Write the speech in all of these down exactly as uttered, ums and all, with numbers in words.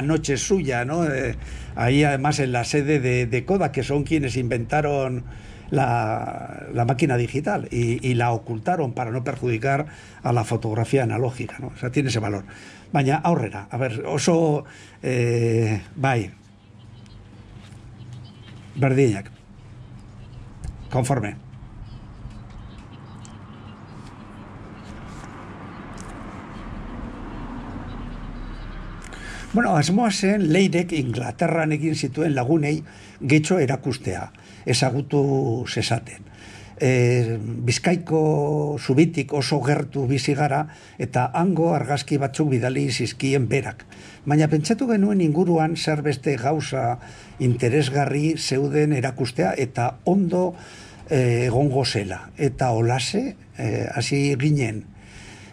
noche suya, ¿no? Eh, ahí además en la sede de, de Kodak, que son quienes inventaron la, la máquina digital y, y la ocultaron para no perjudicar a la fotografía analógica, ¿no? O sea, tiene ese valor. Baina aurrera, a ver, oso eh, bai, berdinak, conforme. Bueno, asmoa zen Leirek Inglaterran egin zituen lagunei getxo erakustea, ezagutu zezaten. E, Bizkaiko zubitik oso gertu bizi gara eta hango argazki batzuk bidali zizkien berak. Baina pentsatu genuen inguruan zer beste gauza interesgarri zeuden erakustea eta ondo e, egongo zela. Eta olase, e, hasi ginen.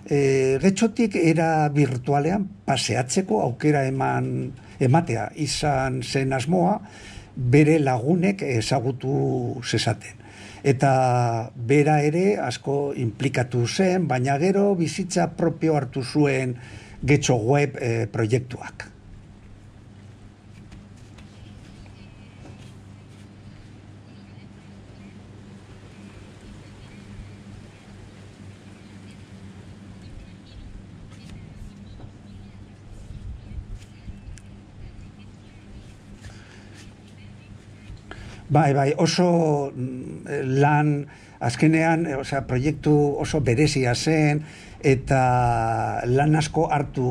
E, getxotik era virtualean paseatzeko aukera eman ematea izan zen asmoa bere lagunek ezagutu zezaten. Eta bera ere asko implikatu zen, baina gero bizitza propio hartu zuen getxo web e, proiektuak. Bai, bai, oso lan, azkenean, osea, proiektu oso berezia zen, eta lan asko hartu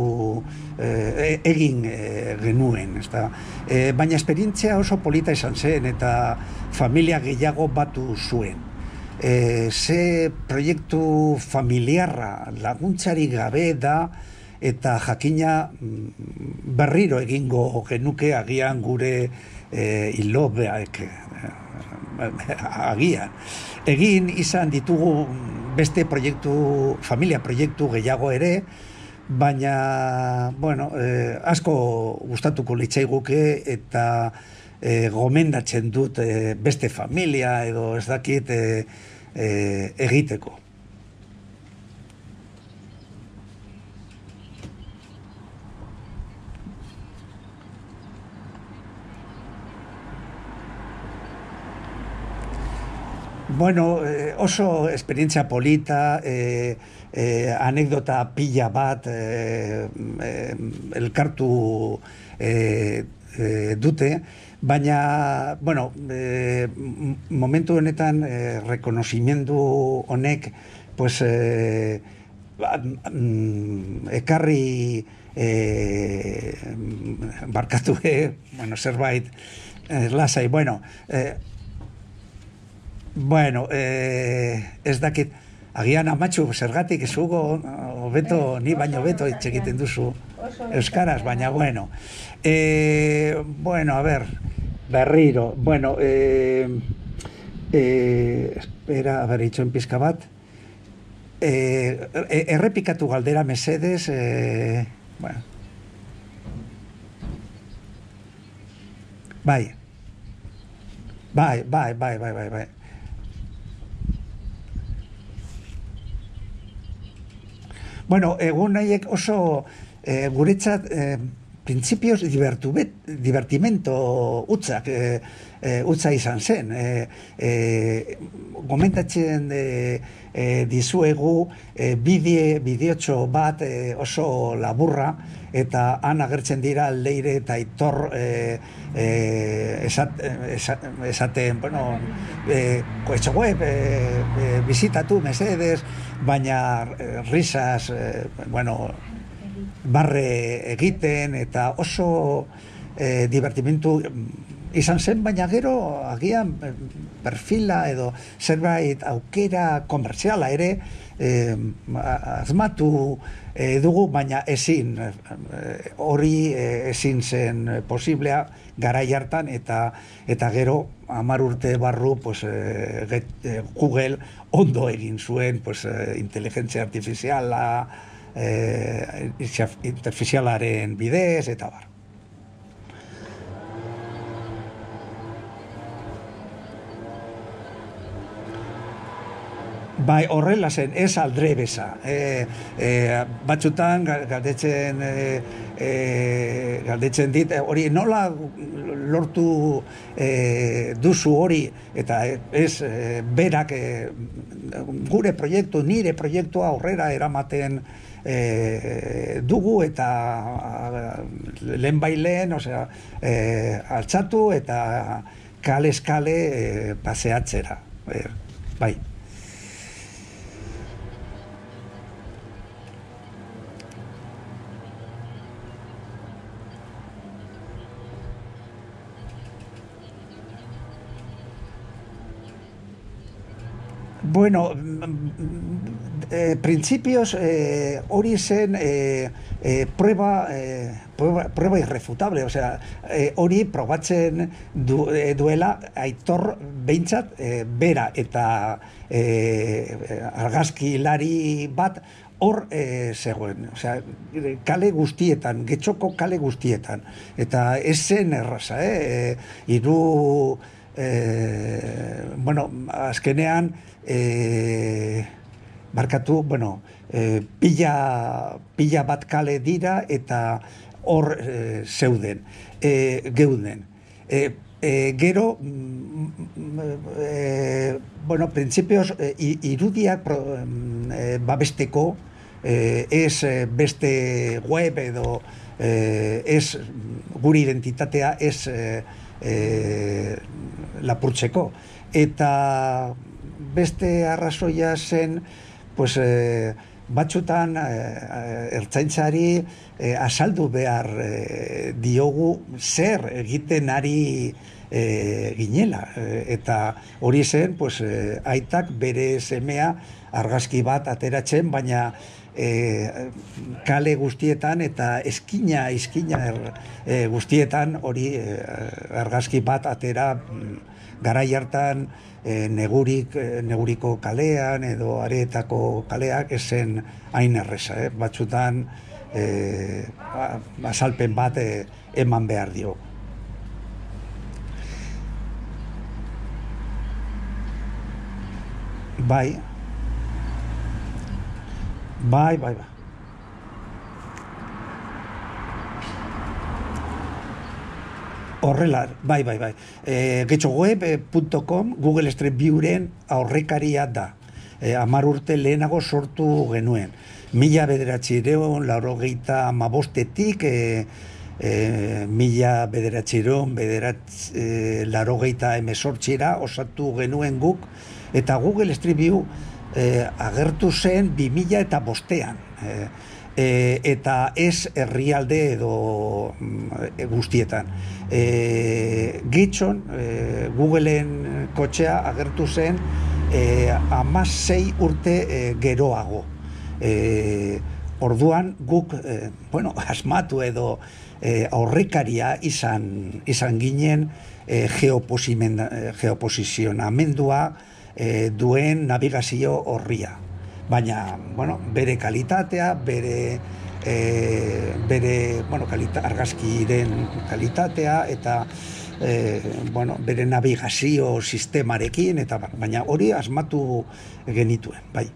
eh, egin eh, genuen, ezta. Eh, baina esperientzia oso polita izan zen, eta familia gehiago batu zuen. Eh, ze proiektu familiarra laguntzari gabe da, eta jakina berriro egingo genuke agian gure eh, ilobeak agian. Egin izan ditugu beste proiektu, familia proiektu gehiago ere, baina, bueno, eh, asko gustatuko litzaiguke eta eh, gomendatzen dut eh, beste familia edo ez dakit eh, eh, egiteko. Bueno, eh, oso esperientzia polita, eh, eh, anekdota pila bat eh, eh, elkartu eh, eh, dute, baina, bueno, eh, momentu honetan eh, rekonozimiendu honek, pues, eh, ekarri eh, barkatu, eh, bueno, zerbait eh, lasai, bueno, eh, Bueno, eh, ez dakit, agian amatxu zergatik zugo, hobeto, ni baino beto hitz egiten duzu euskaraz, baina bueno. Eh, bueno, a ver, berriro, bueno, eh, eh, espera, a ver, itxoen pizka bat, eh, errepikatu galdera mesedes, eh, bueno. Bai, bai, bai, bai, bai, bai, bai. Bueno, egun nahiek oso eh, guretzat eh, printzipioz divertimento utzak eh, eh, utza izan zen. Eh, eh, Gomentatzen eh, eh, dizuegu eh, bideo, bideotxo bat eh, oso laburra eta han agertzen dira Leire eta Aitor eh, eh, esat, esat, esaten, bueno, eh, koetxo web eh, eh, bizitatu mesedes, baina eh, risas, eh, bueno, barre egiten eta oso eh, divertimentu izan zen, baina gero agian perfila edo zerbait aukera komerziala ere eh, azmatu eh, dugu, baina ezin hori eh, ezin zen posiblea garai hartan eta eta gero hamar urte barru pues, eh, get, eh, Google ondo egin zuen pues, eh, inteligentzia artifiziala eh, artifizialaren bidez eta bar. Bai, horrela zen, ez aldre beza. E, e, batzutan galdetzen, e, e, galdetzen dit, hori nola lortu e, duzu hori, eta ez e, berak e, gure proiektu, nire proiektua aurrera eramaten e, dugu, eta lehen bailen, osea, e, altzatu eta kale-eskale e, paseatzera. E, bai. Bueno, eh, principios eh, hori zen eh, eh, prueba, eh, prueba, prueba irrefutable, o sea, eh, hori probatzen du, eh, duela Aitor behintzat eh, bera eta eh, argazkilari bat hor eh, zegoen, o sea, kale guztietan, Getxoko kale guztietan, eta ez zen erraza, eh? Hiru, eh, bueno, azkenean, E, barkatu, bueno, e, pila, pila bat kale dira eta hor e, zeuden, e, geuden. E, e, gero, e, bueno, printzipioz, e, irudiak pro, e, babesteko, e, ez beste web edo e, ez gure identitatea ez e, e, lapurtzeko. Eta beste arrazoia zen, pues, eh, batzutan eh, ertzaintzari eh, azaldu behar eh, diogu zer egiten ari eh, ginela. Eh, eta hori zen, pues, eh, aitak bere semea argazki bat ateratzen, baina eh, kale guztietan eta eskina, eskina er, eh, guztietan hori eh, argazki bat atera garai hartan E, negurik, neguriko kalean edo areetako kaleak esen hain erreza, eh? Batzutan e, azalpen bat e, eman behar dio. Bai, bai, bai, bai. Horrela, bai, bai, bai. E, getxoweb punto com Google Street Viewren aurrekaria da. E, Amar urte lehenago sortu genuen. Mila bederatzireon, laurogeita amabostetik, e, e, mila bederatzireon, bederatz, e, laurogeita emesortzira osatu genuen guk, eta Google Street View e, agertu zen bi mila eta bostean. E, e, eta ez herrialde edo e, guztietan. E, Getxon, e, Googleen kotxea agertu zen e, hamasei urte e, geroago. E, orduan guk, e, bueno, asmatu edo e, aurrekaria izan, izan ginen e, geoposizionamendua e, duen navigazio horria. Baina, bueno, bere kalitatea, bere E, bere, bueno, kalita, argazkiren kalitatea eta e, bueno, bere navigazio sistemarekin, eta baina hori asmatu genituen, bai.